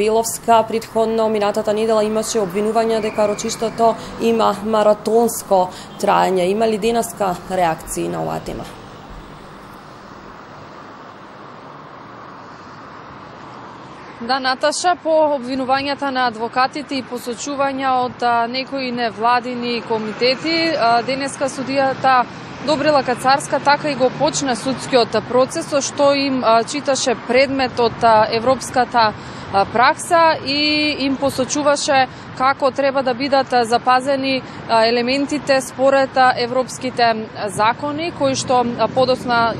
Беловска претходно минатата недела имаше обвинувања дека рочиштото има маратонско траење. Има ли денеска реакции на оваа тема? Да, Наташа, по обвинувањата на адвокатите и посочувања од некои невладини комитети, денеска судијата Добрила Кацарска така и го почна судскиот процес, што им читаше предмет од европската пракса и им посочуваше како треба да бидат запазени елементите според европските закони, кои што подоцна,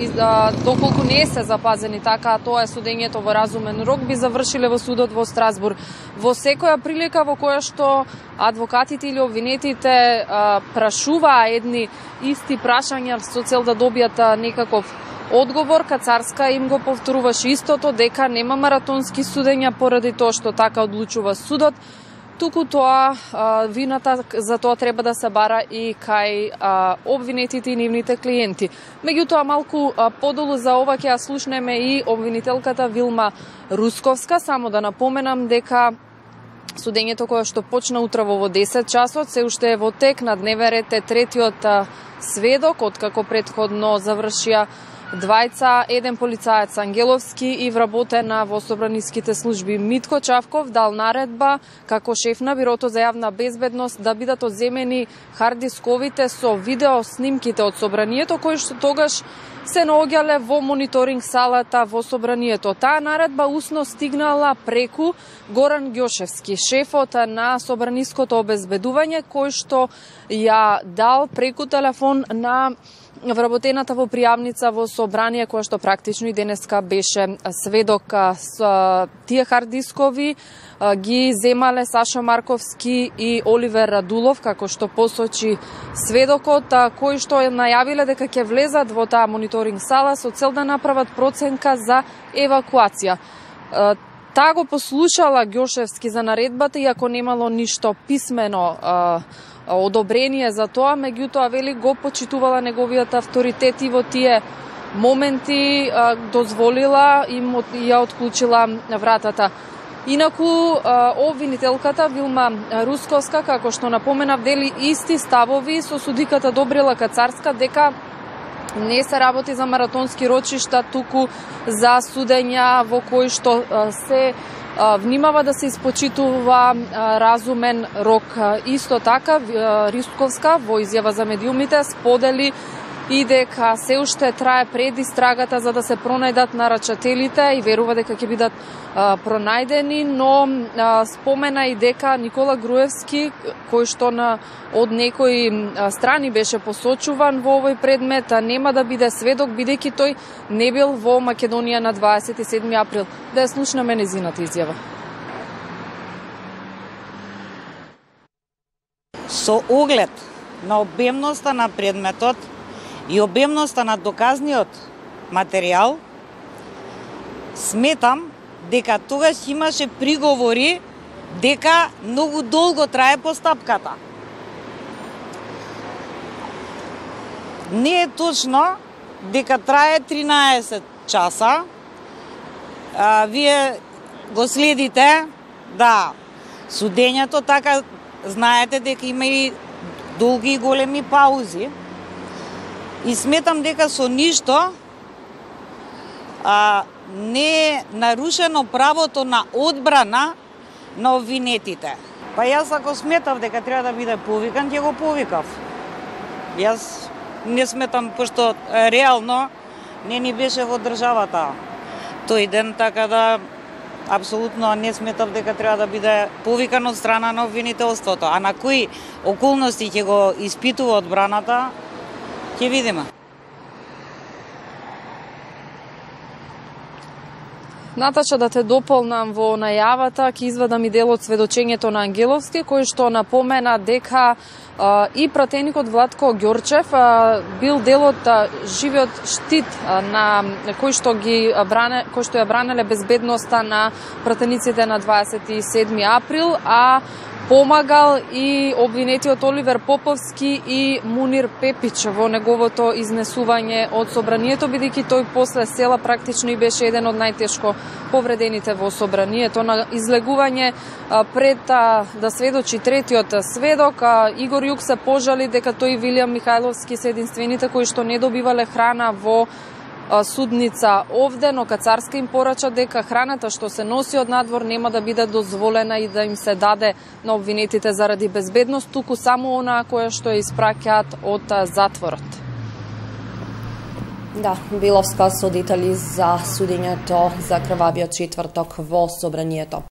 доколку не се запазени така, тоа е судењето во разумен рок, би завршиле во судот во Страсбург. Во секоја прилика во која што адвокатите или обвинетите прашуваа едни исти прашања со цел да добијат некаков одговор, Кацарска им го повторуваше истото, дека нема маратонски судења поради тоа што така одлучува судот, туку тоа вината за тоа треба да се бара и кај обвинетите и нивните клиенти. Меѓутоа, малку подолу за ова ќе ја слушнеме и обвинителката Вилма Русковска. Само да напоменам дека судењето кое што почна утрово во 10 часот се уште е во тек. На дневен ред е третиот сведок, откако претходно завршија двајца, еден полицаец Ангеловски и вработена во собраниските служби. Митко Чавков дал наредба како шеф на Бирото за јавна безбедност да бидат одземени харддисковите со видео снимките од собранието, кои што тогаш се наоѓале во мониторинг салата во собранието. Таа наредба усно стигнала преку Горан Ѓошевски, шефот на собраниското обезбедување, кој што ја дал преку телефон на вработената во пријавница во собрание, која што практично и денеска беше сведок. Тие харддискови ги земале Сашо Марковски и Оливер Радулов, како што посочи сведокот, кои што најавиле дека ќе влезат во таа мониторинг сала со цел да направат проценка за евакуација. Таа го послушала Ѓошевски за наредбата, иако немало ништо писмено одобрение за тоа, меѓутоа вели го почитувала неговиот авторитет и во тие моменти дозволила и ја отклучила вратата. Инаку, обвинителката Вилма Русковска, како што напоменав, дели исти ставови со судиката Добрила Кацарска, дека не се работи за маратонски рочишта, туку за судења во кои што се внимава да се испочитува разумен рок. Исто така, Русковска во изјава за медиумите сподели и дека се уште трае предистрагата за да се пронајдат нарачателите и верува дека ќе бидат пронајдени, но спомена и дека Никола Груевски, кој што од некои страни беше посочуван во овој предмет, нема да биде сведок, бидејќи тој не бил во Македонија на 27 април. Да ја слушнеме незината изјава. Со оглед на обемноста на предметот и обемноста на доказниот материјал, сметам дека тогаш имаше приговори дека многу долго трае постапката. Не е точно дека трае 13 часа. Вие го следите, да, судењето, така знаете дека има и долги и големи паузи. И сметам дека со ништо не е нарушено правото на одбрана на обвинетите. Па јас ако сметав дека треба да биде повикан, ќе го повикав. Јас не сметам, пошто реално не ни беше во државата тој ден, така да апсолутно не сметав дека треба да биде повикан од страна на обвинителството. А на кои околности ќе го испитува одбраната, ќе видиме. Наташа, да те дополнам во најавата, ќе извадам и дел од сведочењето на Ангеловски, кој што напомена дека и пратеникот Владко Ѓорчев бил дел од живиот штит на кој што ја бранеле безбедноста на пратениците на 27 април, а помагал и обвинетиот Оливер Поповски и Мунир Пепич во неговото изнесување од собранието, бидејќи тој после села практично и беше еден од најтешко повредените во собранието. На излегување пред да сведочи третиот сведок, Игор Јук се пожали дека тој и Вилијам Михајловски се единствените кои што не добивале храна во судница овде, но Кацарска им порача дека храната што се носи од надвор нема да биде дозволена и да им се даде на обвинетите заради безбедност, туку само онаа која што ја испраќаат од затворот. Да, Биловска судители за судењето за крвавиот четврток во собранието.